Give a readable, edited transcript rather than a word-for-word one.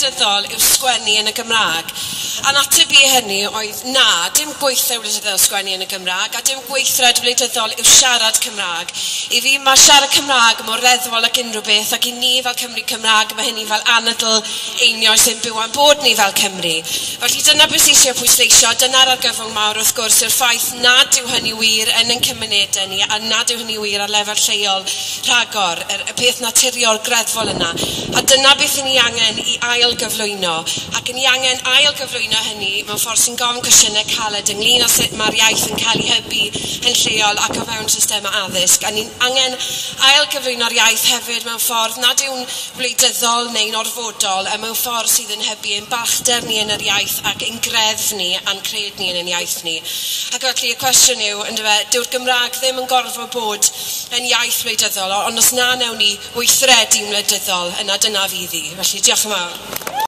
wleidyddol yw sgwennu yn y Gymraeg? A'n ateb i hynny oedd na, dim gweithred wleidyddol sgwennu yn y Gymraeg, a dim gweithred wleidyddol yw siarad Cymraeg. I fi mae siarad Cymraeg mor reddfol ag unrhyw beth, ac i ni fel Cymry Cymraeg mae hynny fel anadl einioes ein byw a'n bod ni fel Cymry. Felly dyna beth sydd eisiau pwysleisio, dyna'r argyfwng mawr wrth gwrs yw'r ffaith nad yw hynny wir yn ein cymunedau ni a nad yw hynny wir ar lefel lleol rhagor, y peth naturiol greddfol yna. A dyna beth i ni angen i ail gyflwyno, ac ni angen ail gyflwyno hynny mewn ffordd sy'n gofyn cwestiynau caled ynglyn â sut mae'r iaith yn cael ei hybu yn lleol ac o fewn systemau addysg. A ni'n angen ail gyflwyno'r iaith hefyd mewn ffordd nad yw'n wleidyddol neu'n orfodol, a mewn ffordd sydd yn hybu ein balchder ni yn yr iaith ac ein greddf ni a'n cred ni yn ein iaith ni. Ac felly y cwestiwn yw, yndyfe, dyw'r Gymraeg ddim yn gorfod bod yn iaith wleidyddol, ond os na newn ni weithredu'n wleidyddol, yna dyna fydd hi. Felly diolch yn fawr.